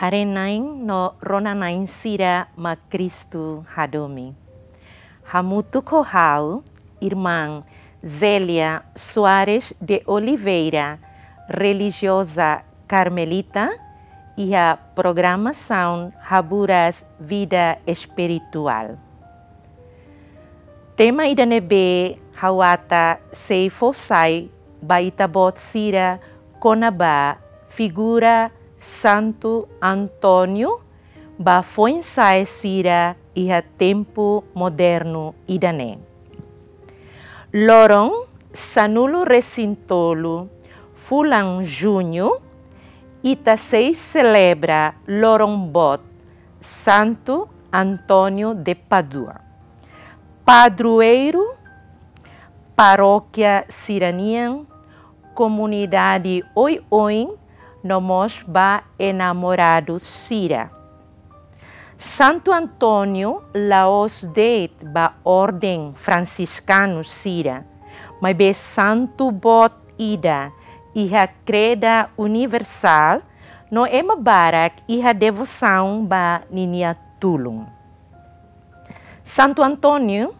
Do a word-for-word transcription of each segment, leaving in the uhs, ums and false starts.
Haree-na'in no rona-na'in sira mak Kristu hadomi. Hamutuk ho ha'u, Irmán Zélia Soares de Oliveira, relijioza karmelita, iha programasaun Haburas Vida Espirituál. Tema ida ne'ebé ha'u ata sei fó sai ba ita-boot sira kona-ba figura Santu António ba foin-sa'e sira iha tempu modernu ida-ne'e. Loron sanulu-resin-tolu fulan Juñu, ita sei selebra loron boot Santu António de Pádua, padroeiru parókia sira-nian, komunidade oioin, no mós ba enamoradu sira. Santu António la'ós de'it ba orden fransiskanu sira, maibé santu boot ida iha kreda universál, no ema barak iha devosaun ba ninia tulun. Santu António,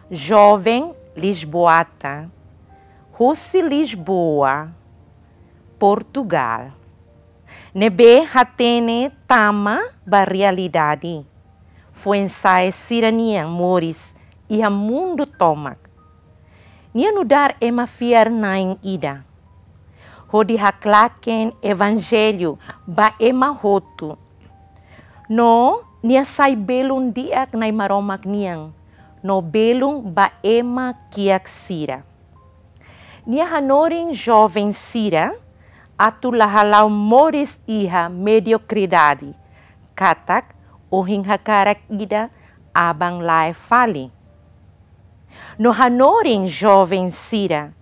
joven lisboeta, husi Lisboa, Portugál, ne'ebé hatene tama ba realidade foin-sa'e sira-nian moris iha mundu tomak. Nia nu'udar ema fiar-na'in ida hodi haklaken evanjellu ba ema hotu. No nia sai belun di'ak Na'i Maromak nian, no belun ba ema kiak sira. Nia hanorin joven sira atu la hala'o moris iha mediokridade, katak ohin hakarak ida, aban lae fali. No hanorin joven sira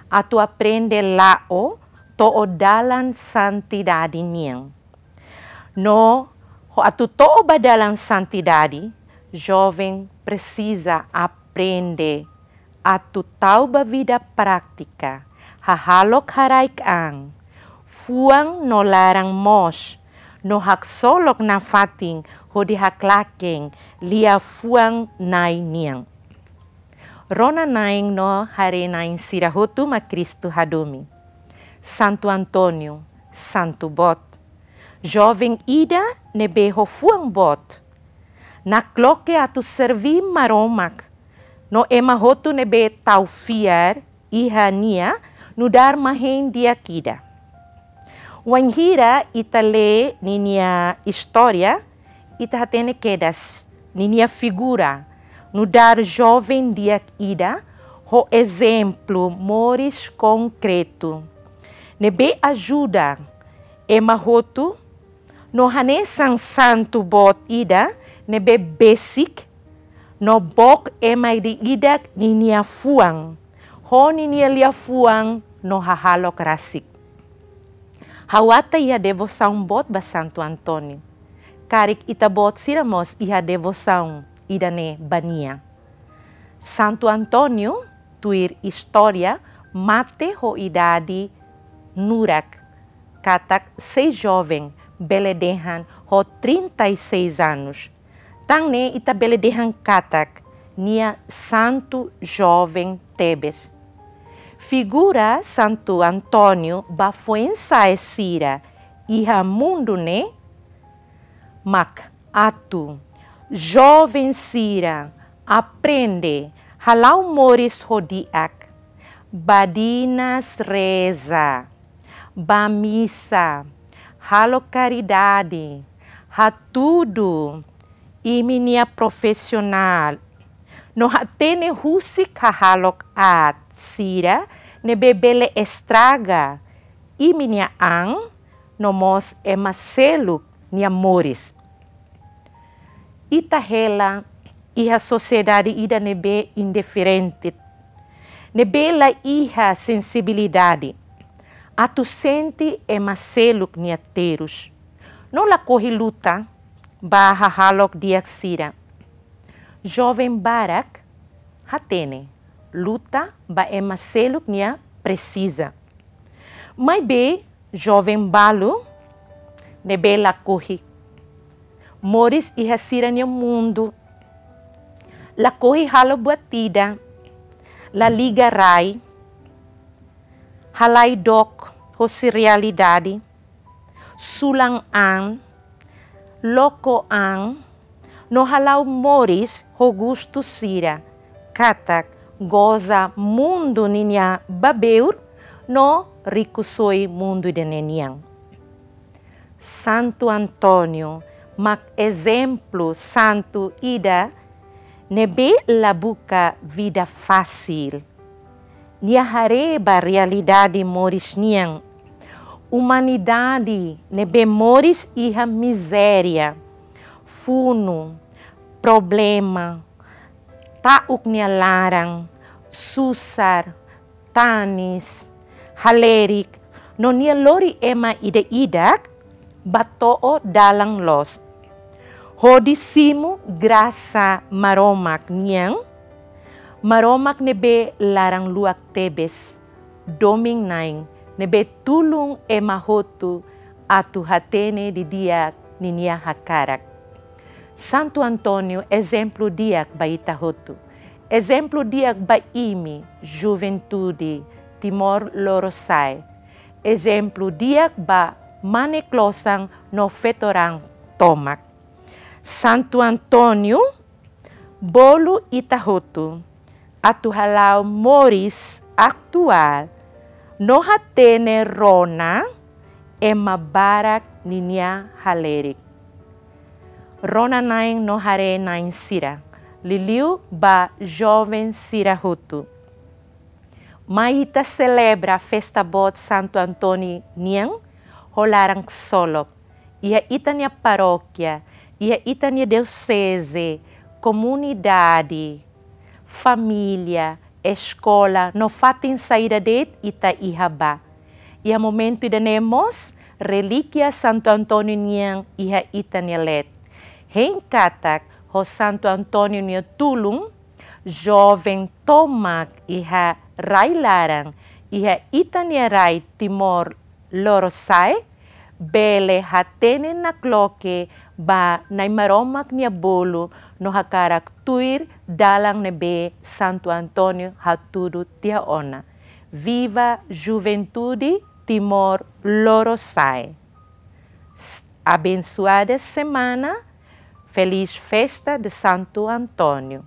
atu aprende la'o to'o dalan santidade nian. No ho atu to'o ba dalan santidade, joven presiza aprende atu tau ba vida prátika, hahalok haraik an, fuan no laran moos, no haksolok nafatin hodi haklaken liafuan Na'i nian. Rona-na'in no haree-na'in sira hotu mak Kristu hadomi. Santu António, santu boot. Joven ida ne'ebé ho fuan boot. Nakloke atu serbí Maromak. No ema hotu ne'ebé tau fiar iha nia nu'udar ema hein di'ak ida. Wainhira ita lee ninia istória, ita hatene kedas ninia figura nu'udar joven di'ak ida ho ezemplu moris konkretu ne'ebé ajuda ema hotu, no hanesan santu boot ida ne'ebé besik no book ema ida-idak ninia fuan, ho ninia liafuan no hahalok rasik. Ha'u ata iha devosaun boot ba Santu António. Karik ita-boot sira mós iha devosaun ida-ne'e ba nia. Santu António, tuir istória, mate ho idade nurak, katak sei joven, bele dehan ho trinta e seis anos. Tan ne'e ita bele dehan katak nia santu joven tebes. Figura Santu António ba foin-sa'e sira iha mundu ne'e mak atu joven sira aprende hala'o moris ho di'ak, badinas reza, bá misa, halo karidade, hatudu imi-nia profisionál, no hatene husik hahalok aat sira ne'ebé bele estraga imi-nia an no mós ema seluk nia moris. Ita hela iha sosiedade ida ne'ebé indiferente, ne'ebé la iha sensibilidade atu sente ema seluk nia terus. No lakohi luta ba hahalok di'ak sira. Joven barak hatene luta ba ema seluk nia presiza. Maibé joven balu ne'ebé lakohi. Moris iha sira-nia mundu. Lakohi halo buat ida, la liga rai, halai dook hosi realidade, sulan an, loko an, no hala'o moris ho gostu sira, katak goza mundu ninia babeur no rikusoin mundu ida-ne'e nian. Santu António mak ezemplu santu ida ne'ebé la buka vida fasil. Nia haree ba realidade moris nian. Umanidade ne'ebé moris iha mizéria, funu, problema, ta'uk nia laran, susar, tanis, halerik, no nia lori ema ida-idak ba to'o dalan loos. Hodi simu grasa Maromak nian, Maromak ne'ebé laran luak tebes, domin-na'in ne'ebé tulun ema hotu atu hatene didi'ak ninia hakarak. Santu António ezemplu di'ak ba ita hotu. Ezemplu di'ak ba imi, juventude Timor Lorosa'e. Ezemplu di'ak ba mane klosan no feto-raan tomak. Santu António bolu ita hotu atu hala'o moris atuál no hatene rona ema barak ninia halerik. Rona-na'in no haree-na'in sira, liuliu ba joven sira hotu. Mai ita selebra festa boot Santu António nian ho laran ksolok. Iha ita-nia parókia, iha ita-nia dioseze, komunidade, família, eskola, no fatin saida de'it ita iha ba. Iha momentu ida-ne'e mós, relíkia Santu António nian iha ita-nia leet. Hein katak ho Santu António nia tulun, joven tomak iha rai-laran, iha ita-nia rai Timor Lorosa'e, bele hatene nakloke ba Na'i Maromak nia bolu no hakarak tuir dalan ne'ebé Santu António hatudu tiha ona. Viva juventude Timor Lorosa'e. S-, abensoada semana, feliz festa de Santo António.